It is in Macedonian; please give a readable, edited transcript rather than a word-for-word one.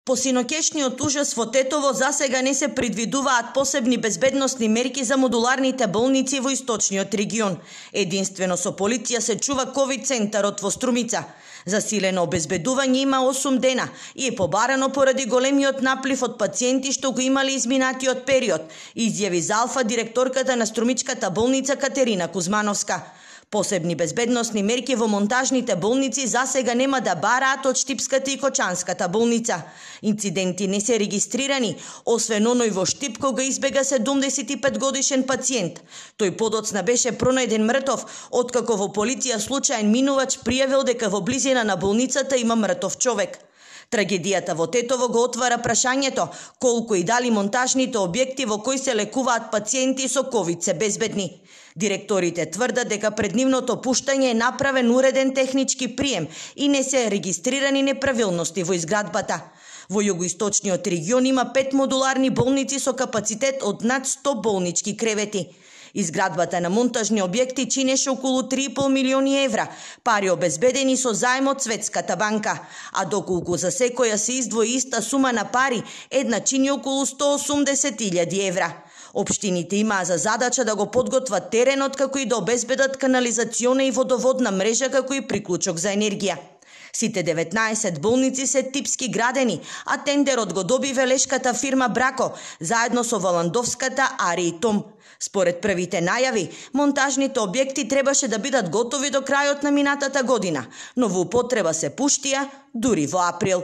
По синокешниот ужас во Тетово засега не се предвидуваат посебни безбедносни мерки за модуларните болници во источниот регион. Единствено со полиција се чува ковид центарот во Струмица. Засилено обезбедување има 8 дена и е побарано поради големиот наплив од пациенти што го имале изминатиот период, изјави за Алфа директорката на Струмичката болница Катерина Кузмановска. Посебни безбедносни мерки во монтажните болници засега нема да бараат од Штипската и Кочанската болница. Инциденти не се регистрирани, освен оној во Штип кога избега 75 годишен пациент. Тој подоцна беше пронајден мртов, откако во полиција случаен минувач пријавил дека во близина на болницата има мртов човек. Трагедијата во Тетово го отвара прашањето колку и дали монтажните објекти во кои се лекуваат пациенти со ковид се безбедни. Директорите тврдат дека пред нивното пуштање е направен уреден технички прием и не се регистрирани неправилности во изградбата. Во југоисточниот регион има 5 модуларни болници со капацитет од над 100 болнички кревети. Изградбата на монтажни објекти чинеше околу 3,5 милиони евра, пари обезбедени со заем од Светската банка, а доколку за секоја се издвои иста сума на пари, една чини околу 180.000 евра. Општините имаа за задача да го подготват теренот како и да обезбедат канализациона и водоводна мрежа како и приклучок за енергија. Сите 19 болници се типски градени, а тендерот го доби велешката фирма Брако, заедно со Воландовската Ари и Том. Според првите најави, монтажните објекти требаше да бидат готови до крајот на минатата година, но во употреба се пуштија дури во април.